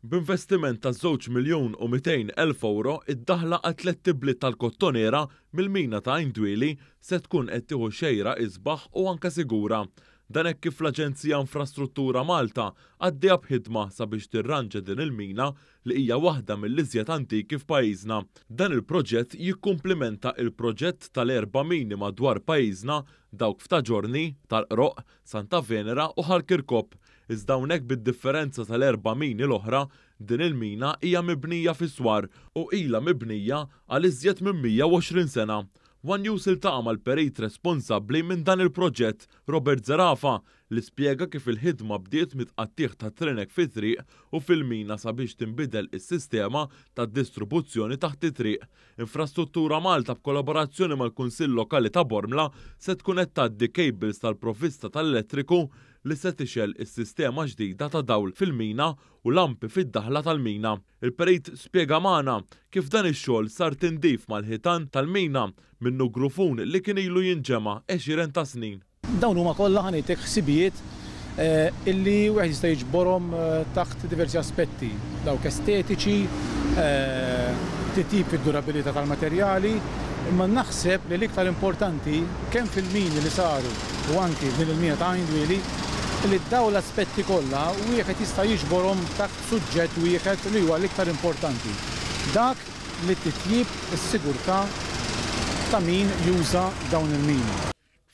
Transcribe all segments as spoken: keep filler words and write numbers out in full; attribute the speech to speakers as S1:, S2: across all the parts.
S1: B'investiment ta' żewġ miljun u mitejn elf ewro, id-daħla għat-tlett ibliet tal-Kottonera mill-mina ta' Għajn Dwieli se tkun qed tieħu xejra isbaħ u anke sigura. Dan hekk kif l-Aġenzija Infrastruttura Malta għaddejja b'ħidma sabiex tirranġa din il-mina li hija waħda mill-iżjed antiki f'pajjiżna. Dan il-proġett jikkumplimenta il-proġett tal-erba' mini madwar pajjiżna, dawk f'Ta' Ġiorni, Tal-Qroqq, Santa Venera u Ħal Kirkop. Iżda hawnhekk, bid-differenza tal-erba' mini l-oħra, din il-mina hija mibnija fi swar u ilha mibnija għal iżjed minn mija u għoxrin sena. One News iltaqa' mal-perit responsabbli minn dan il-proġett, Robert Zerafa, li spjega kif il-ħidma bdiet mit-tqattigħ ta' trinek fit-triq u fil-mina sabiex tinbidel is-sistema ta' distribuzzjoni taħt it-triq. Infrastruttura Malta, b'kollaborazzjoni mal-Kunsill Lokali ta' Bormla, se tkun qed tgħaddi cables tal-provvista tal-elettriku li se tixgħel is-sistema ġdida ta' dawl fil-mina u lampi fid-daħla tal-mina. Il-perit spjega magħna kif dan ix-xogħol sar tindif mal-ħitan tal-mina minnu grufun li kien ilu jinġema' għexieren ta' snin.
S2: Dawn huma kollha, ħa ngħidlek, ħsibijiet eh, illi wieħed jista' jiġborhom eh, taħt diversi aspetti, dawk estetiċi, eh, titjib fid-durabilità tal-materjali, imma naħseb li l-iktar importanti, kemm fil-mini li saru u anki din il-mina ta' Għajn Dwieli, li daw l-aspetti kollha wieħed jista' jiġborhom taħt suġġett wieħed li huwa l-iktar importanti. Dak li titjib is-sigurtà ta' min juża dawn il-mini.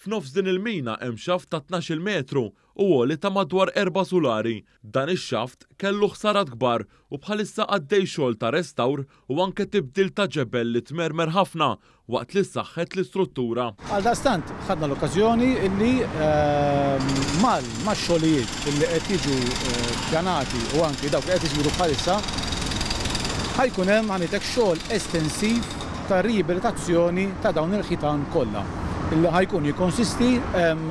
S1: F'nofs din il-mina hemm xaft ta' tnax-il metru u għoli ta' madwar erba' sulari. Dan ix-xaft kellu ħsarat kbar u bħalissa għaddej xogħol ta' restawr u anke tibdil ta' ġebel li tmermer ħafna waqt li saħħet l-istruttura.
S2: Għaldaqstant, ħadna l-okkazjoni illi ehm, mal ma' xogħlijiet illi qed jiġu eh, pjanati u anki dawk li qed isiru bħalissa, ħa jkun hemm, ħa ngħidlek, xogħol estensiv ta' riabilitazzjoni ta' dawn il-ħitan kollha illi ħa jkun jikkonsisti ehm,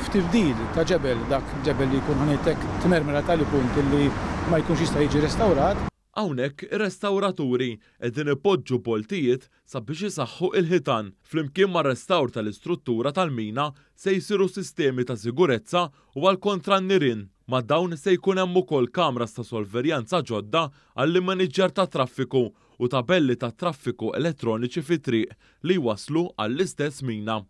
S2: f'tibdil ta' ġebel, dak ġebel li jkun, ħa ngħidlek, tmermer tali punt illi ma jkunx jista' jiġi restawrat.
S1: Hawnhekk ir-restawraturi qegħdin ipoġġu boltijiet sabiex isaħħu il-ħitan. Flimkien ma' restawr tal-istruttura tal-mina se jsiru sistemi ta' sigurezza u għal kontra n-nirien. Ma' dawn se jkun hemm ukoll kameras ta' sorveljanza ġodda għall-immaniġġjar ta' traffiku u tabelli ta' traffiku elettroniċi fit-triq li jwaslu għall-istess mina.